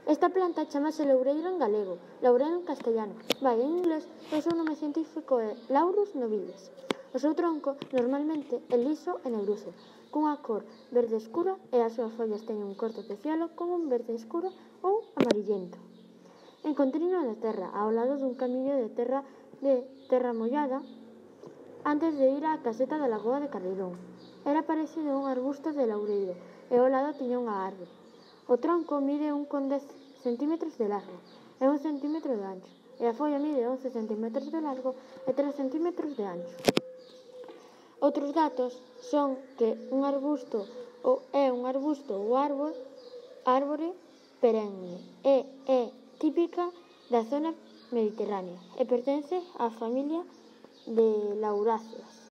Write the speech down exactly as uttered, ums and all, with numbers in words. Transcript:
Esta planta chamase loureiro en galego, laurel en castellano, vai, en inglés, o seu nome científico é Laurus nobilis. O seu tronco normalmente é liso e negruxo, cunha cor verde escura e as súas follas teñen un corte peciolo con un verde escuro ou amarillento. Encontrino na terra, ao lado dun camiño de terra de terra mollada, antes de ir á caseta da Lagoa de Carreirón. Era parecido a un arbusto de laureiro e ao lado tiña unha árbore. O tronco mide un con dez centímetros de largo e un centímetro de ancho, e a folla mide once centímetros de largo e tres centímetros de ancho. Outros datos son que un arbusto ou é un arbusto ou árbore, árbore perenne e é típica da zona mediterránea e pertence á familia de lauráceas.